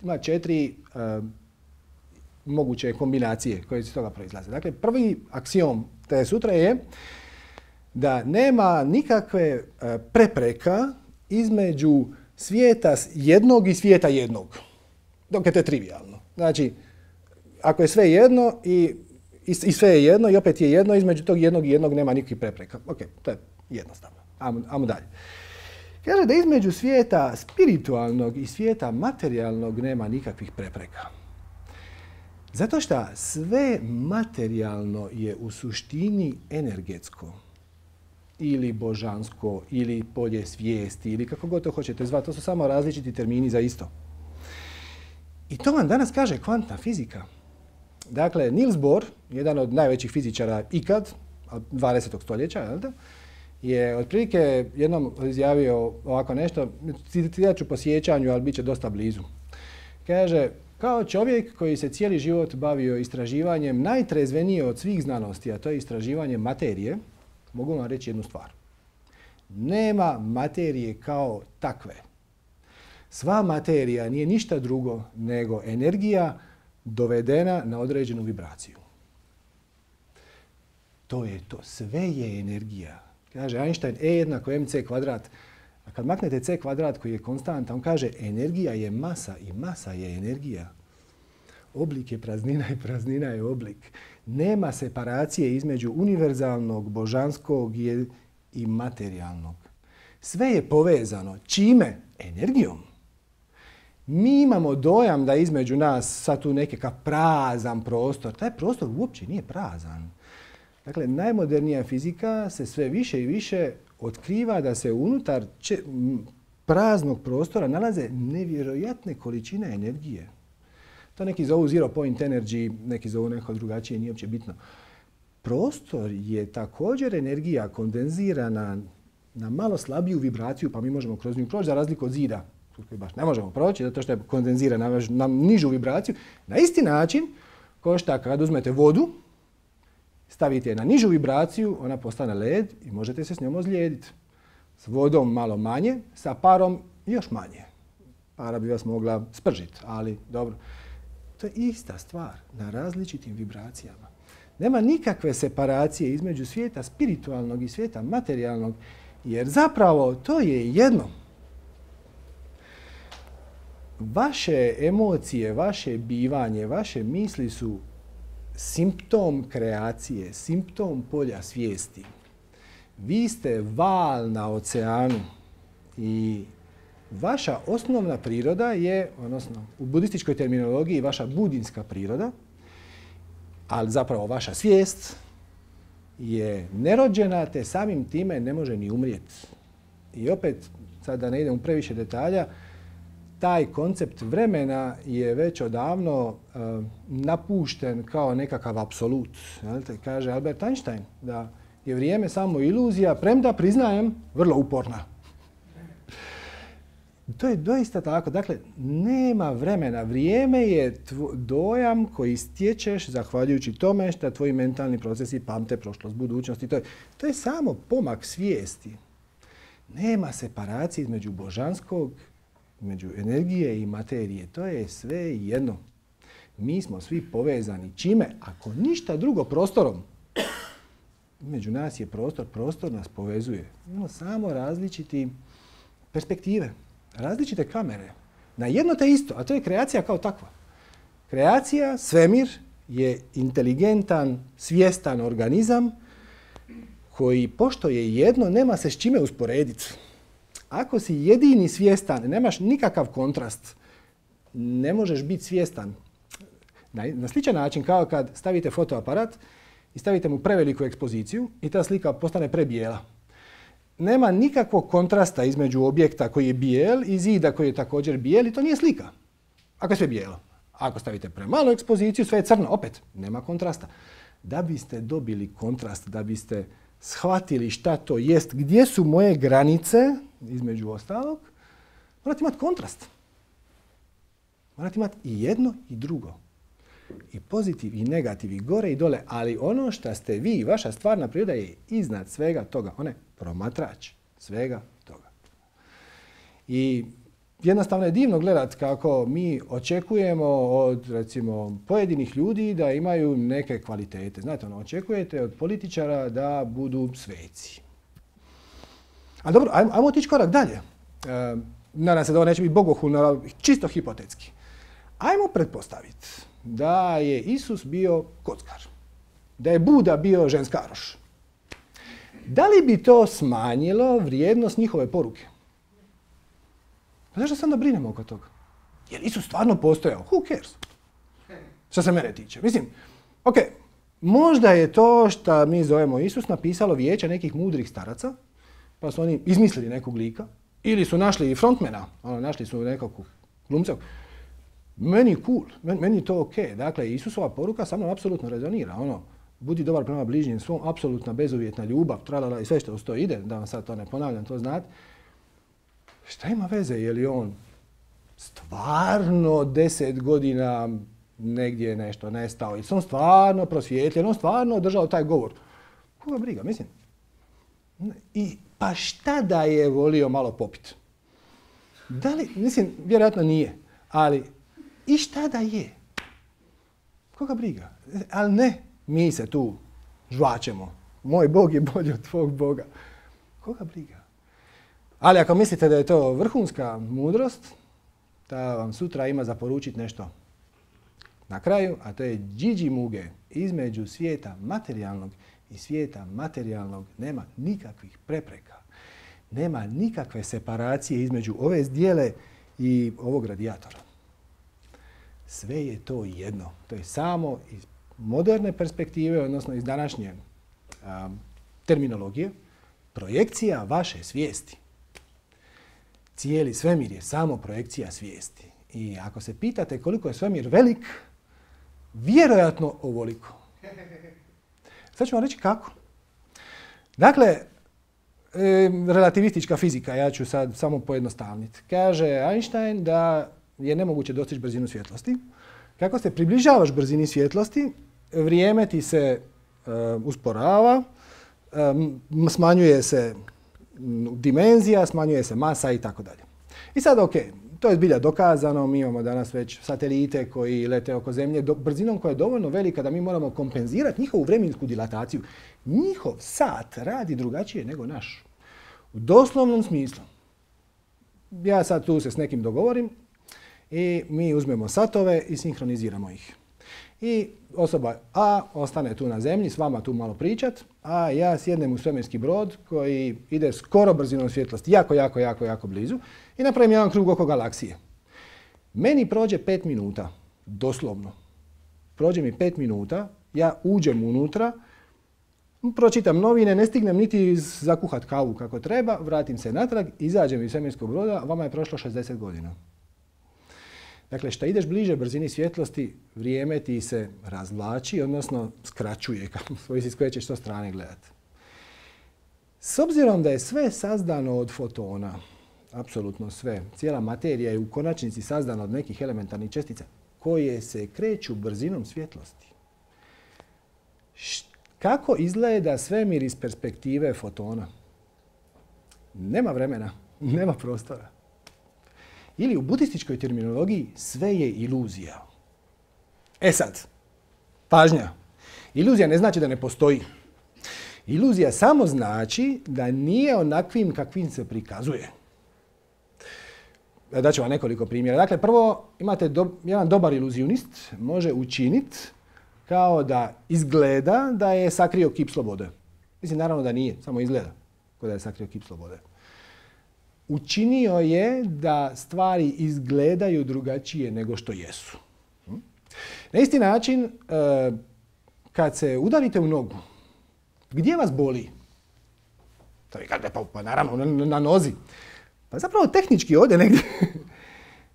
ima 4 moguće kombinacije koje iz toga proizlaze. Dakle, prvi aksiom te sutra je da nema nikakve prepreka između svijeta jednog i svijeta jednog. Dok je to trivialno. Znači, ako je sve jedno i sve je jedno i opet je jedno, između tog jednog i jednog nema nikakvih prepreka. Ok, to je jednostavno. Ajmo dalje. Kaže da između svijeta spiritualnog i svijeta materijalnog nema nikakvih prepreka. Zato što sve materijalno je u suštini energetsko. Ili božansko, ili polje svijesti, ili kako god to hoćete zvati. To su samo različiti termini za isto. I to vam danas kaže kvantna fizika. Dakle, Niels Bohr, jedan od najvećih fizičara ikad, 20. stoljeća, je otprilike jednom izjavio ovako nešto, citirat ću po sjećanju, ali bit će dosta blizu. Kaže, kao čovjek koji se cijeli život bavio istraživanjem najtrezvenije od svih znanosti, a to je istraživanje materije, mogu vam reći jednu stvar. Nema materije kao takve. Sva materija nije ništa drugo nego energija dovedena na određenu vibraciju. To je to. Sve je energija. Kaže Einstein, E jednako mc kvadrat. A kad maknete c kvadrat koji je konstanta, on kaže energija je masa i masa je energija. Oblik je praznina i praznina je oblik. Nema separacije između univerzalnog, božanskog i materijalnog. Sve je povezano. Čime? Energijom. Mi imamo dojam da između nas sad tu nekakav prazan prostor. Taj prostor uopće nije prazan. Dakle, najmodernija fizika se sve više i više otkriva da se unutar praznog prostora nalaze nevjerojatne količine energije. To neki zovu zero point energy, neki zovu neko drugačije, nije uopće bitno. Prostor je također energija kondenzirana na malo slabiju vibraciju, pa mi možemo kroz nju proći, za razliku od zida, koji baš ne možemo proći, zato što je kondenzirana na nižu vibraciju. Na isti način, kao što kad uzmete vodu, stavite je na nižu vibraciju, ona postane led i možete se s njom ozlijediti. S vodom malo manje, sa parom još manje. Para bi vas mogla spržiti, ali dobro. To je ista stvar na različitim vibracijama. Nema nikakve separacije između svijeta spiritualnog i svijeta materijalnog, jer zapravo to je jedno. Vaše emocije, vaše bivanje, vaše misli su simptom kreacije, simptom polja svijesti. Vi ste val na oceanu i vaša osnovna priroda je, odnosno u budističkoj terminologiji vaša budinska priroda, ali zapravo vaša svijest je nerođena te samim time ne može ni umrijeti. I opet, sad da ne idem u previše detalja, taj koncept vremena je već odavno napušten kao nekakav apsolut. Kaže Albert Einstein da je vrijeme samo iluzija, premda priznajem vrlo uporna. To je doista tako. Dakle, nema vremena. Vrijeme je dojam koji stječeš zahvaljujući tome što tvoji mentalni procesi pamte prošlost, budućnost. To je samo pomak svijesti. Nema separacije između božanskog, između energije i materije. To je sve jedno. Mi smo svi povezani. Čime? Ako ništa drugo, prostorom. Među nas je prostor. Prostor nas povezuje. Imamo samo različite perspektive. Različite kamere. Na jedno te isto, a to je kreacija kao takva. Kreacija, svemir, je inteligentan, svjestan organizam koji, pošto je jedno, nema se s čime usporediti. Ako si jedini svjestan, nemaš nikakav kontrast, ne možeš biti svjestan. Na sličan način kao kad stavite fotoaparat i stavite mu preveliku ekspoziciju i ta slika postane prebijela. Nema nikakvog kontrasta između objekta koji je bijel i zida koji je također bijel i to nije slika. Ako je sve bijelo. Ako stavite premalu ekspoziciju, sve je crno. Opet, nema kontrasta. Da biste dobili kontrast, da biste shvatili šta to jest, gdje su moje granice, između ostalog, morate imati kontrast. Morate imati i jedno i drugo. I pozitiv i negativ, i gore i dole, ali ono što ste vi, vaša stvarna priroda je iznad svega toga. Ona je promatrač svega toga. I jednostavno je divno gledati kako mi očekujemo od, recimo, pojedinih ljudi da imaju neke kvalitete. Znate, očekujete od političara da budu sveci. A dobro, ajmo otići korak dalje. Nadam se da ovo neće biti bogohulno, čisto hipotetski. Ajmo pretpostaviti da je Isus bio kockar, da je Buda bio ženskaroš. Da li bi to smanjilo vrijednost njihove poruke? Pa zašto se onda brinemo oko toga? Je li Isus stvarno postojao? Who cares? Što se mene tiče. Mislim, ok, možda je to što mi zovemo Isus napisalo vijeće nekih mudrih staraca, pa su oni izmislili nekog lika, ili su našli frontmana, našli su nekog glumca. Meni cool, meni je to ok. Dakle, Isusova poruka sa mnom apsolutno rezonira. Budi dobar prema bližnjem svom, apsolutna bezuvjetna ljubav, tralala i sve što uz to ide, da vam sad to ne ponavljam, to znate. Šta ima veze, je li on stvarno 10 godina negdje nešto nestao, ili se on stvarno prosvjetljen, on stvarno održao taj govor. Koga briga, mislim. Pa šta da je volio malo popit? Da li, mislim, vjerojatno nije, ali i šta da je? Koga briga? Ali ne, mi se tu žvačemo. Moj Bog je bolji od tvog Boga. Koga briga? Ali ako mislite da je to vrhunska mudrost, da vam sutra ima za poručiti nešto na kraju, a to je điđi muge između svijeta materijalnog i svijeta materijalnog nema nikakvih prepreka. Nema nikakve separacije između ove zdjele i ovog radijatora. Sve je to jedno. To je samo iz moderne perspektive, odnosno iz današnje terminologije, projekcija vaše svijesti. Cijeli svemir je samo projekcija svijesti. I ako se pitate koliko je svemir velik, vjerojatno ovoliko. Sad ću vam reći kako. Dakle, relativistička fizika, ja ću sad samo pojednostavniti. Kaže Einstein da je nemoguće dostići brzinu svjetlosti. Kako se približavaš brzini svjetlosti, vrijeme ti se usporava, smanjuje se dimenzija, smanjuje se masa i tako dalje. I sad, ok, to je zbilja dokazano, mi imamo danas već satelite koji lete oko Zemlje brzinom koja je dovoljno velika da mi moramo kompenzirati njihovu vremensku dilataciju. Njihov sat radi drugačije nego naš. U doslovnom smislu. Ja sad tu se s nekim dogovorim i mi uzmemo satove i sinhroniziramo ih. I osoba A ostane tu na Zemlji s vama tu malo pričat, a ja sjednem u svemirski brod koji ide skoro brzinom svjetlosti, jako blizu i napravim jedan krug oko galaksije. Meni prođe 5 minuta, doslovno. Prođe mi 5 minuta, ja uđem unutra, pročitam novine, ne stignem niti zakuhat kavu kako treba, vratim se natrag, izađem iz svemirskog broda, vama je prošlo 60 godina. Dakle, što ideš bliže brzini svjetlosti, vrijeme ti se razvlači, odnosno skraćuje, kako svoj si s koje ćeš to strane gledati. S obzirom da je sve sazdano od fotona, apsolutno sve, cijela materija je u konačnici sazdana od nekih elementarnih čestica koje se kreću brzinom svjetlosti. Kako izgleda svemir iz perspektive fotona? Nema vremena, nema prostora. Ili u budističkoj terminologiji sve je iluzija. E sad, pažnja. Iluzija ne znači da ne postoji. Iluzija samo znači da nije onakvim kakvim se prikazuje. Daću vam nekoliko primjera. Dakle, prvo imate jedan dobar iluzionist može učiniti kao da izgleda da je sakrio kip slobode. Mislim, naravno da nije, samo izgleda kao da je sakrio kip slobode. Učinio je da stvari izgledaju drugačije nego što jesu. Na isti način, kad se udarite u nogu, gdje vas boli? Pa naravno, na nozi. Pa zapravo tehnički ovdje negdje.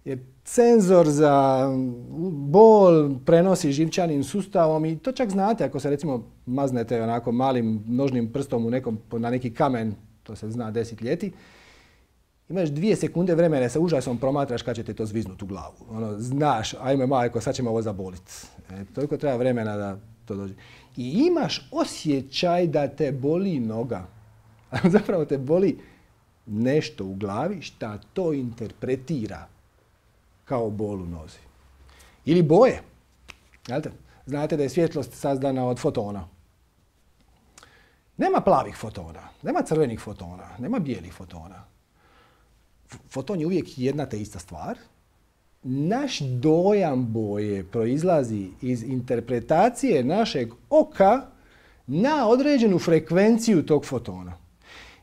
Jer senzor za bol prenosi živčanim sustavom i to čak znate ako se recimo maznete onako malim nožnim prstom na neki kamen, to se zna desetljetí. Imaš 2 sekunde vremena sa užasom promatraš kad će te to zviznuti u glavu. Znaš, ajme majko, sad ćemo ovo zaboliti. Toliko treba vremena da to dođe. I imaš osjećaj da te boli noga. A zapravo te boli nešto u glavi šta to interpretira kao bol u nozi. Ili boje. Znate da je svjetlost sazdana od fotona. Nema plavih fotona, nema crvenih fotona, nema bijelih fotona. Foton je uvijek jedna te ista stvar. Naš dojam boje proizlazi iz interpretacije našeg oka na određenu frekvenciju tog fotona.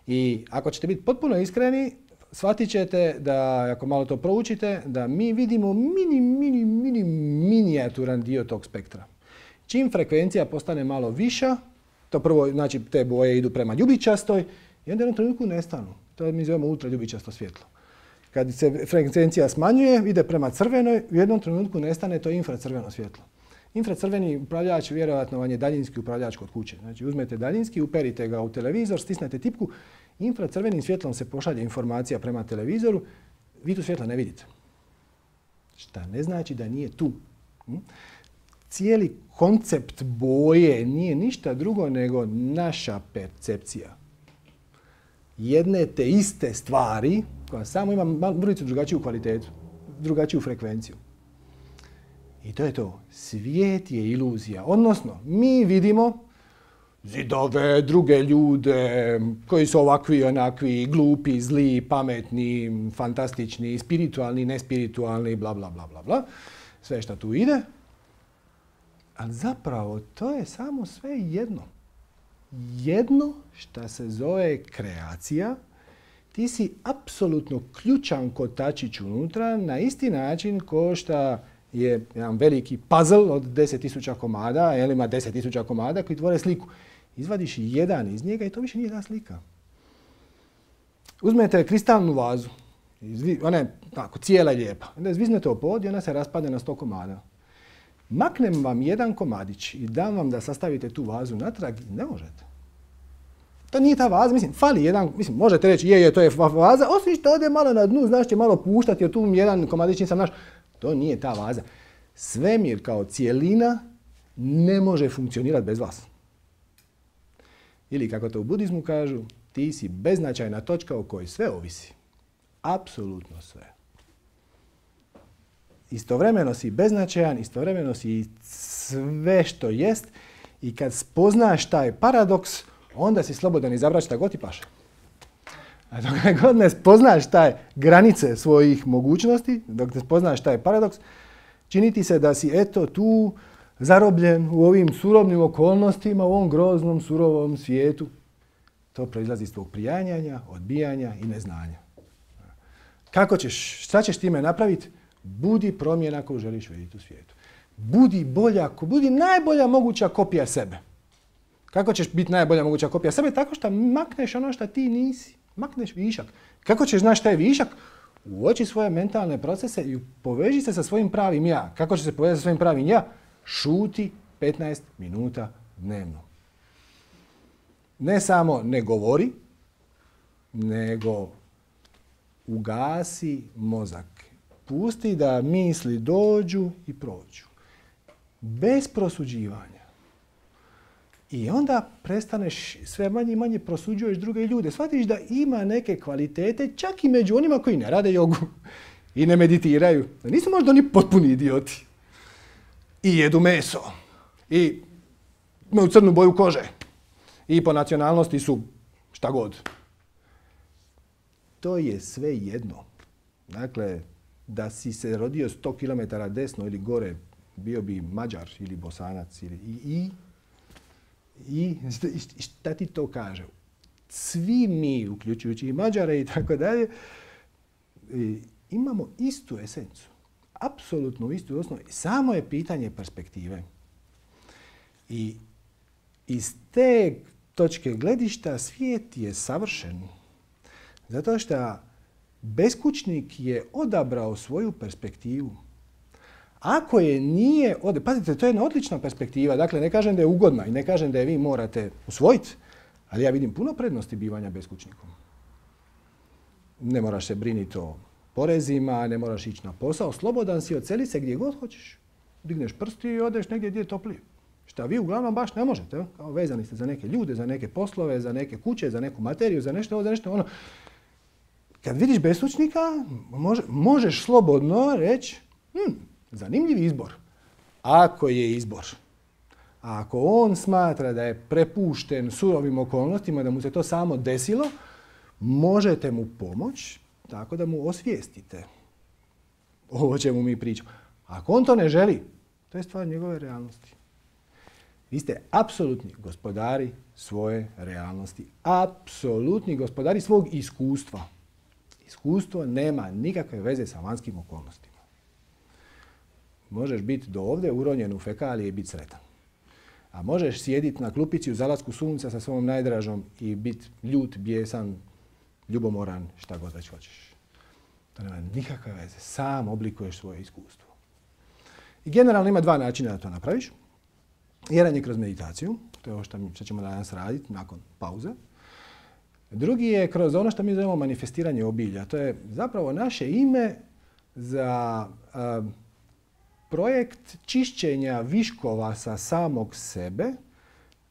I ako ćete biti potpuno iskreni, shvatit ćete da, ako malo to proučite, da mi vidimo minijaturan dio tog spektra. Čim frekvencija postane malo viša, to prvo, znači te boje idu prema ljubičastoj i onda u jednom trenutku nestanu. To mi zovemo ultraljubičasto svjetlo. Kad se frekvencija smanjuje, ide prema crvenoj, u jednom trenutku nestane to infracrveno svjetlo. Infracrveni upravljač vjerojatno vam je daljinski upravljač kod kuće. Znači uzmete daljinski, uperite ga u televizor, stisnete tipku, infracrvenim svjetlom se pošalje informacija prema televizoru, vi tu svjetla ne vidite. Šta ne znači da nije tu. Cijeli koncept boje nije ništa drugo nego naša percepcija jedne te iste stvari koja samo ima mrvicu drugačiju kvalitetu, drugačiju frekvenciju. I to je to. Svijet je iluzija. Odnosno, mi vidimo zidove, druge ljude koji su ovakvi, onakvi, glupi, zli, pametni, fantastični, spiritualni, nespiritualni, bla, bla, bla, bla, bla. Sve što tu ide. Ali zapravo to je samo sve jedno. Jedno što se zove kreacija. Ti si apsolutno ključan kotačić unutra na isti način ko što je jedan veliki puzzle od 10.000 komada, ili ima 10.000 komada koji tvore sliku. Izvadiš jedan iz njega i to više nije ta slika. Uzmete kristalnu vazu, ona je tako cijela i lijepa. Onda zviznete o pod i ona se raspadne na 100 komada. Maknem vam jedan komadić i dam vam da sastavite tu vazu natrag i ne možete. To nije ta vaza, mislim, fali jedan, mislim, možete reći je, to je vaza, osim što ode malo na dnu, znaš će malo puštati, jer tu jedan komadić nisam naš. To nije ta vaza. Svemir kao cijelina ne može funkcionirati bez vas. Ili kako to u budizmu kažu, ti si beznačajna točka o kojoj sve ovisi. Apsolutno sve. Istovremeno si beznačajan, istovremeno si sve što jest i kad spoznaš taj paradoks, onda si slobodan izabrati šta god ti paše. A dok god ne spoznaš taj granice svojih mogućnosti, dok ne spoznaš taj paradoks, čini ti se da si eto tu zarobljen u ovim surovnim okolnostima, u ovom groznom, surovom svijetu. To proizlazi iz tvog prijanjanja, odbijanja i neznanja. Kako ćeš, šta ćeš time napraviti? Budi promjena koju želiš vidjeti u svijetu. Budi bolja, budi najbolja moguća kopija sebe. Kako ćeš biti najbolja moguća kopija sebe? Tako što makneš ono što ti nisi. Makneš višak. Kako ćeš znaš šta je višak? Uoči svoje mentalne procese i poveži se sa svojim pravim ja. Kako će se povezati sa svojim pravim ja? Šuti 15 minuta dnevno. Ne samo ne govori, nego ugasi mozak. Pusti da misli dođu i prođu. Bez prosuđivanja. I onda prestaneš sve manje i manje prosuđuješ druge ljude. Shvatiš da ima neke kvalitete čak i među onima koji ne rade jogu i ne meditiraju. Da nisu možda oni potpuni idioti. I jedu meso. I imaju crnu boju kože. I po nacionalnosti su šta god. To je sve jedno. Dakle, da si se rodio 100 km desno ili gore, bio bi Mađar ili Bosanac. I šta ti to kaže? Svi mi, uključujući i Mađare i tako dalje, imamo istu esencu. Apsolutno istu osnovu. Samo je pitanje perspektive. I iz te točke gledišta svijet je savršen. Zato što beskućnik je odabrao svoju perspektivu. Ako je nije, pazite, to je jedna odlična perspektiva. Dakle, ne kažem da je ugodna i ne kažem da je vi morate usvojiti, ali ja vidim puno prednosti bivanja beskućnikom. Ne moraš se brinuti o porezima, ne moraš ići na posao, slobodan si, odseli se gdje god hoćeš. Digneš prsti i odeš negdje gdje je toplije. Šta vi uglavnom baš ne možete. Kao vezani ste za neke ljude, za neke poslove, za neke kuće, za neku materiju, za nešto ono. Kad vidiš beskućnika, možeš slobodno reći, zanimljiv izbor. Ako je izbor. A ako on smatra da je prepušten surovim okolnostima, da mu se to samo desilo, možete mu pomoći tako da mu osvijestite o čemu mi pričamo. Ako on to ne želi, to je stvar njegove realnosti. Vi ste apsolutni gospodari svoje realnosti. Apsolutni gospodari svog iskustva. Iskustvo nema nikakve veze sa vanjskim okolnostima. Možeš biti do ovdje uronjen u fekalije i biti sretan. A možeš sjediti na klupici u zalasku sunca sa svojom najdražom i biti ljut, bijesan, ljubomoran, šta god već hoćeš. To nema nikakve veze. Sam oblikuješ svoje iskustvo. I generalno ima dva načina da to napraviš. Jedan je kroz meditaciju, to je ovo što ćemo danas raditi nakon pauze. Drugi je kroz ono što mi zovemo manifestiranje obilja. To je zapravo naše ime za projekt čišćenja viškova sa samog sebe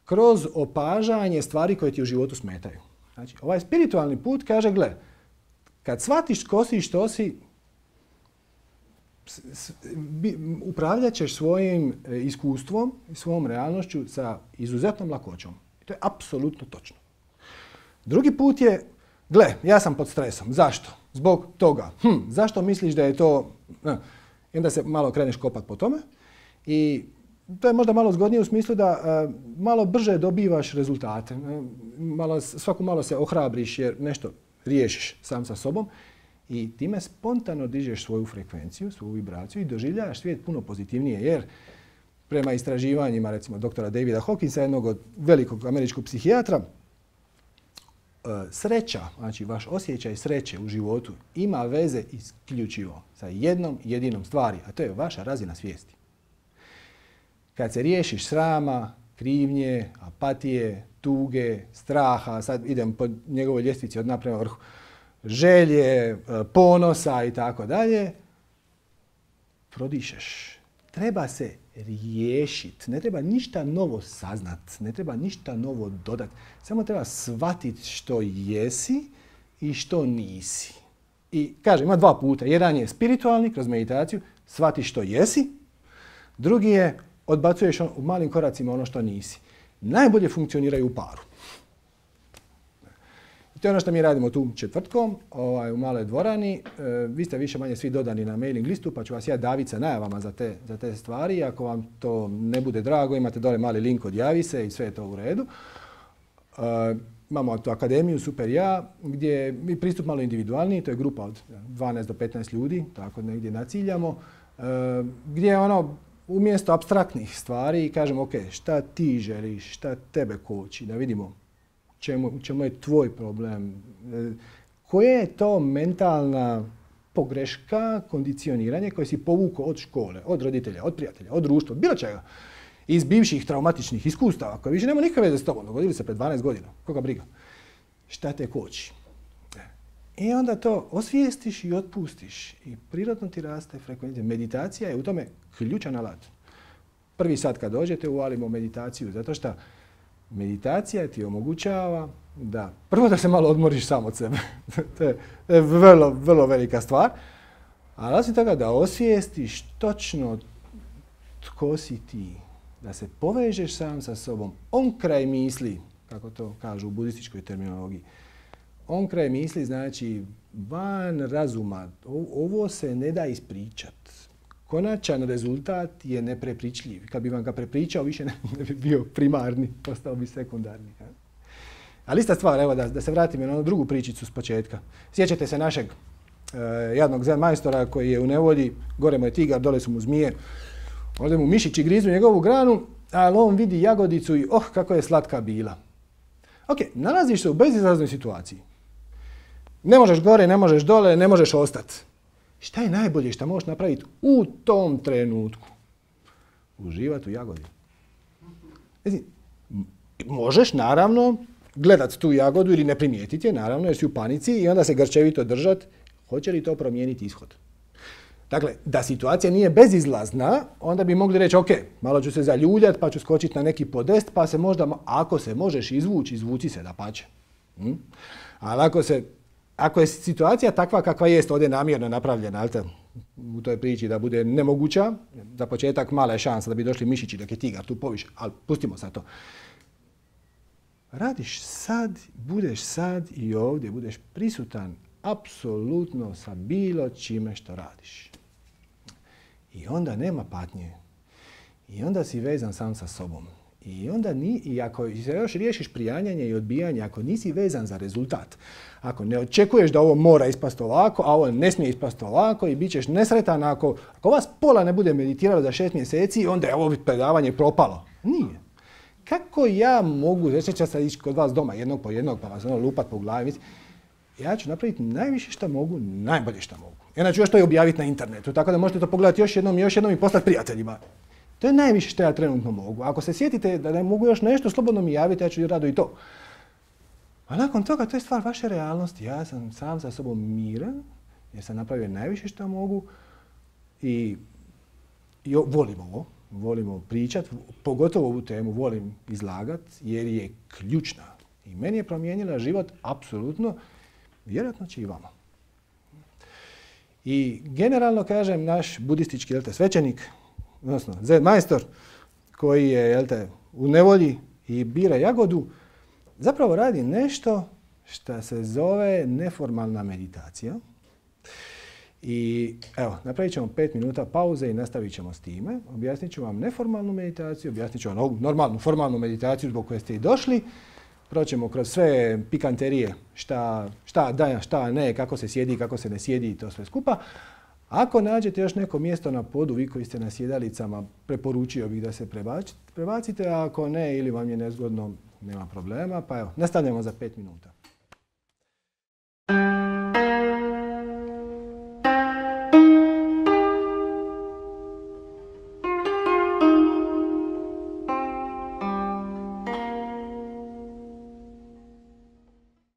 kroz opažanje stvari koje ti u životu smetaju. Znači, ovaj spiritualni put kaže, gle, kad shvatiš tko si i što si, upravljat ćeš svojim iskustvom i svojom realnošću sa izuzetnom lakoćom. I to je apsolutno točno. Drugi put je, gle, ja sam pod stresom. Zašto? Zbog toga. Zašto misliš da je to... I onda se malo kreneš kopat po tome. I to je možda malo zgodnije u smislu da malo brže dobivaš rezultate. Svako malo se ohrabriš jer nešto riješiš sam sa sobom. I time spontano dižeš svoju frekvenciju, svoju vibraciju i doživljavaš svijet puno pozitivnije. Jer prema istraživanjima, recimo, doktora Davida Hawkinsa, jednog od velikog američkog psihijatra, sreća, znači vaš osjećaj sreće u životu ima veze isključivo sa jednom jedinom stvari, a to je vaša razina svijesti. Kad se riješiš srama, krivnje, apatije, tuge, straha, sad idem po njegovoj ljestvici od dna prema vrhu, želje, ponosa i tako dalje, prodišeš. Treba se riješiti, ne treba ništa novo saznat, ne treba ništa novo dodati. Samo treba shvatiti što jesi i što nisi. I kažem, ima dva puta. Jedan je spiritualni, kroz meditaciju, shvatiš što jesi. Drugi je, odbacuješ u malim koracima ono što nisi. Najbolje funkcioniraju u paru. To je ono što mi radimo tu četvrtkom u maloj dvorani. Vi ste više manje svi dodani na mailing listu, pa ću vas ja daviti sa najavama za te stvari. Ako vam to ne bude drago, imate dole mali link, odjavi se i sve je to u redu. Imamo tu akademiju Super ja, gdje je pristup malo individualniji, to je grupa od 12 do 15 ljudi, tako negdje naciljamo, gdje umjesto apstraktnih stvari kažemo, ok, šta ti želiš, šta tebe koči, da vidimo u čemu je tvoj problem, koja je to mentalna pogreška, kondicioniranje koje si povukao od škole, od roditelja, od prijatelja, od društva, bilo čega, iz bivših traumatičnih iskustava koje više nema nikakve veze s tobom, dogodili se pred 12 godina, koga briga, šta te koči. I onda to osvijestiš i otpustiš i prirodno ti raste frekvencija. Meditacija je u tome ključan alat. Prvi sat kad dođete uvalimo meditaciju, zato što meditacija ti omogućava da, prvo da se malo odmoriš sam od sebe. To je vrlo, vrlo velika stvar. Ali osim toga da osvijestiš točno tko si ti. Da se povežeš sam sa sobom. On kraj misli, kako to kažu u budističkoj terminologiji. On kraj misli znači van razuma. Ovo se ne da ispričat. Konačan rezultat je neprepričljiv. Kad bi vam ga prepričao, više ne bi bio primarni, postao bi sekundarni. Ali ista stvar, evo da se vratim na onu drugu pričicu s početka. Sjećate se našeg jadnog zen majstora koji je u nevolji, gore mu je tigar, dole su mu zmije, ovdje mu mišići grizu njegovu granu, ali on vidi jagodicu i kako je slatka bila. Ok, nalaziš se u bezizlaznoj situaciji. Ne možeš gore, ne možeš dole, ne možeš ostati. Šta je najbolje što možeš napraviti u tom trenutku? Uživati u jagodi. Možeš, naravno, gledat tu jagodu ili ne primijetiti je, naravno, jer si u panici i onda se grčevito držati. Hoće li to promijeniti ishod? Dakle, da situacija nije bezizlazna, onda bi mogli reći, ok, malo ću se zaljuljati, pa ću skočiti na neki podest, pa se možda, ako se možeš izvući, izvuci se dapače. Ali ako je situacija takva kakva jest ovdje namjerno napravljena, u toj priči da bude nemoguća, za početak mala je šansa da bi došli mišići dok je tigar tu poviše, ali pustimo sad to. Radiš sad, budeš sad i ovdje, budeš prisutan apsolutno sa bilo čime što radiš. I onda nema patnje. I onda si vezan sam sa sobom. I onda i ako se još riješiš prijanjanje i odbijanje, ako nisi vezan za rezultat, ako ne očekuješ da ovo mora ispasti ovako, a ovo ne smije ispasti ovako i bit ćeš nesretan ako vas pola ne bude meditiralo za 6 mjeseci, onda je ovo predavanje propalo. Nije. Kako ja mogu, reći ću sad ići kod vas doma jednog po jednog pa vas lupat po glavi, ja ću napraviti najviše što mogu, najbolje što mogu. I onda ću još to i objaviti na internetu, tako da možete to pogledati još jednom i poslati prijateljima. To je najviše što ja trenutno mogu. Ako se sjetite da ne mogu još nešto, slobodno mi javiti, ja ću rado i to. A nakon toga, to je stvar vaše realnosti. Ja sam sam sa sobom miran, jer sam napravio najviše što mogu i volim ovo. Volimo pričati, pogotovo ovu temu volim izlagati jer je ključna. I meni je promijenila život apsolutno, vjerojatno će i vama. I generalno kažem, naš budistički svećenik, odnosno Zen majstor, koji je u nevolji i bira jagodu, zapravo radi nešto što se zove neformalna meditacija. I evo, napravit ćemo 5 minuta pauze i nastavit ćemo s time. Objasnit ću vam neformalnu meditaciju, objasnit ću vam ovu normalnu, formalnu meditaciju zbog koje ste i došli. Proćemo kroz sve pikanterije, šta da, šta ne, kako se sjedi, kako se ne sjedi i to sve skupa. Ako nađete još neko mjesto na podu, vi koji ste na sjedalicama, preporučio bih da se prebacite, a ako ne ili vam je nezgodno, nema problema. Pa evo, nastavljamo za 5 minuta.